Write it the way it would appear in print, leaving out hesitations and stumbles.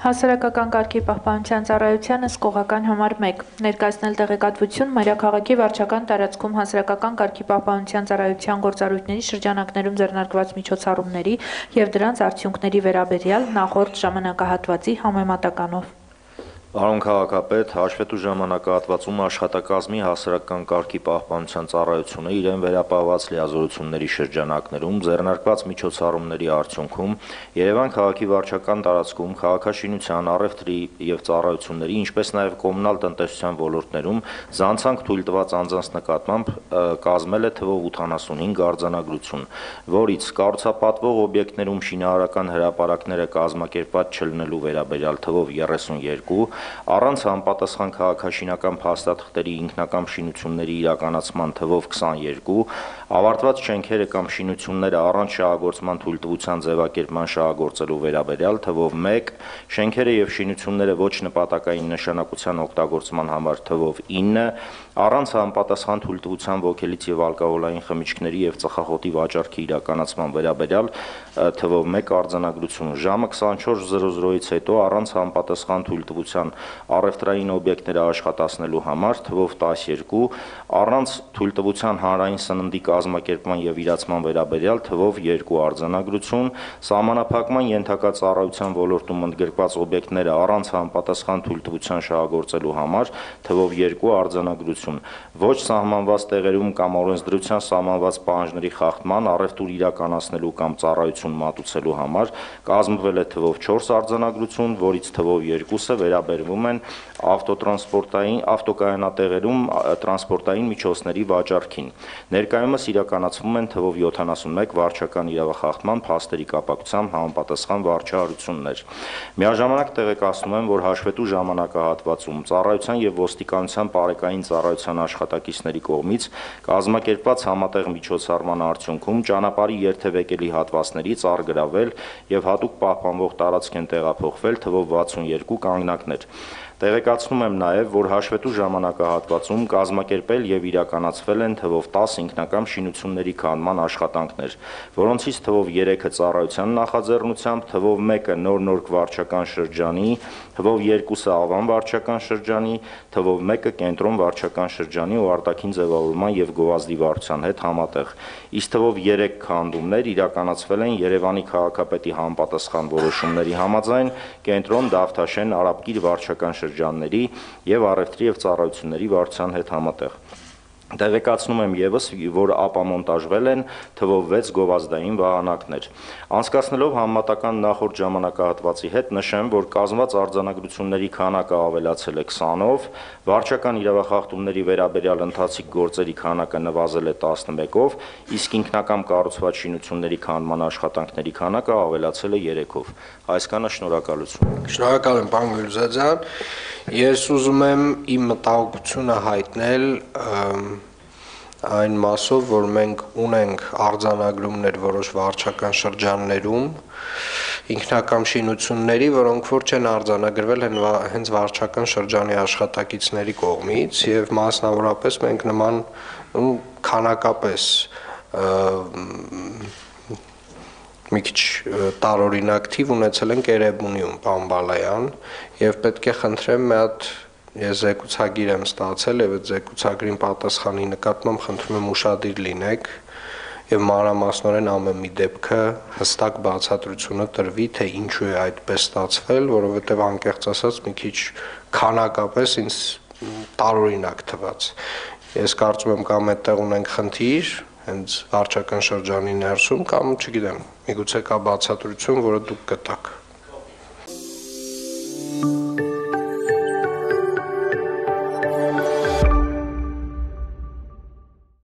Հասարակական կարգի պահպանության ծառայության հսկողական համար 1. Ներկայացնել տեղեկատվություն մայրաքաղաքի վարչական տարածքում հասարակական կարգի պահպանության ծառայության գործառույթների շրջանակներում ձեռնարկված միջոցառումների և դրանց արդյունքների վերաբերյալ նախորդ ժամանակահատվածի համեմատականով։ Պարոն քաղաքապետ, հաշվետու ժամանակահատվածում աշխատակազմի հասարակական կարգի պահպանության ծառայությունը իրեն վերապահված լիազորությունների շրջանակներում ձեռնարկված միջոցառումների արդյունքում Երևան քաղաքի վարչական տարածքում քաղաքաշինության, առևտրի և ծառայությունների, ինչպես նաև կոմունալ տնտեսության ոլորտներում զանցանք թույլ տված անձանց նկատմամբ կազմել է թվով 85 արձանագրություն, որից կառուցապատվող օբյեկտներում շինարարական հրապարակները կազմակերպված չլինելու վերաբերյալ թվով 32, առանց համապատասխան քաղաքաշինական փաստաթղթերի ինքնակամ շինությունների իրականացման թվով 22, ավարտված շենքերը կամ շինությունները առանց շահագործման թույլտվության ձևակերպման շահագործելու վերաբերյալ թվով 1, շենքերը և շինությունները ոչ նպատակային նշանակության օգտագործման համար թվով 9, առանց համապատասխան թույլտվության ոգելից և ալկոհոլային խմիչքների և ծխախոտի վաճառքի իրականացման վերաբերյալ թվով 1 արձանագրություն, ժամը 24:00-ից հետո առանց համապատասխան թույլտվության առևտրային օբյեկտները աշխատացնելու համար թվով 12, առանց թույլտվության հանրային սննդի կազմակերպման և իրացման վերաբերյալ թվով 2 արձանագրություն, սահմանափակման ենթակա ծառայության ոլորտում ընդգրկված օբյեկտները առանց համապատասխան թույլտվության շահագործելու համար թվով 2 արձանագրություն, ոչ սահմանված տեղերում կամ օրենսդրությամբ սահմանված պահանջների խախտման, առևտուր իրականացնելու կամ ծառայություն մատուցելու համար կազմվել է թվով 4 արձանագրություն, որից թվով 2-ը վերաբերվում են ավտոկայանատեղերում տրանսպորտային միջոցների վաճառքին։ Ներկայումս իրականացվում են թվով 71 վարչական իրավախախտման փաստերի կապակցությամբ համապատասխան վարչահարություններ։ Միաժամանակ տեղեկացնում եմ, որ հաշվետու ժամանակահատվածում ծառայության և ոստիկանության պարեկային ծառայության աշխատակիցների կողմից կազմակերպված համատեղ միջոցառման արդյունքում ճանապարհի երթևեկելի հատվածներից առգրավել և հատուկ պահպանվող տարածք են տեղափոխվել թվով 62 կանգնակներ։ Տեղեկացնում եմ նաև, որ հաշվետու ժամանակահատվածում կազմակերպել և իրականացվել են թվով 10 ինքնակամ շինությունների քանդման աշխատանքներ, որոնցից թվով 3-ը ծառայության նախաձեռնությամբ, թվով 1-ը Նոր վարչական շրջանի, թվով 2-ը Ավան վարչական շրջանի, թվով 1-ը Կենտրոն վարչական շրջանի ու արտաքին ձևավորման և գովազդի վարչության հետ համատեղ, իսկ թվով 3 քանդումներ իրականացվել են Երևանի քաղաքապետի համապատասխան որոշումների համաձայն Կենտրոն, Դավթաշեն, Արաբկիր վարչական շրջանների և առևտրի և ծառայությունների վարչության հետ համատեղ։ Տեղեկացնում եմ ևս, որ ապամոնտաժվել են թվով 6 գովազդային վահանակներ։ Անցկացնելով համեմատական նախորդ ժամանակահատվածի հետ նշեմ, որ կազմված արձանագրությունների քանակը ավելացել է 20-ով, վարչական իրավախախտումների վերաբերյալ ընթացիկ գործերի քանակը նվազել է 11-ով, իսկ ինքնակամ կառուցված շինությունների քանդման աշխատանքների քանակը ավելացել է 3-ով։ Այսքանը, շնորհակալություն։ Շնորհակալ եմ, պարոն Գյուլզադյան։ Ես ուզում եմ իմ մտահոգությունը հայտնել այն մասով, որ մենք ունենք արձանագրումներ որոշ վարչական շրջաններում ինքնակամ շինությունների, որոնք որ չեն արձանագրվել հենց վարչական շրջանի աշխատակիցների կողմից եւ մասնավորապես մենք նման քանակապես մի քիչ տարօրինակ թիվ ունեցել ենք Էրեբունիում, պարոն Բալայան, եւ պետք է խնդրեմ մի հատ ես զեկուցագիր եմ ստացել եւ այդ զեկուցագրին պատասխանի նկատմամբ խնդրում եմ ուշադիր լինեք եւ մանրամասնորեն ամեն մի դեպքը հստակ բացատրությունը տրվի, թե ինչու է այդպես ստացվել, որովհետեւ անկեղծ ասած մի քիչ քանակապես ինձ տարօրինակ թվաց։ Ես կարծում եմ կամ այդտեղ ունենք խնդիր հենց վարչական շրջանի ներսում կամ չգիտեմ, միգուցե կա բացատրություն, որը դուք կտաք։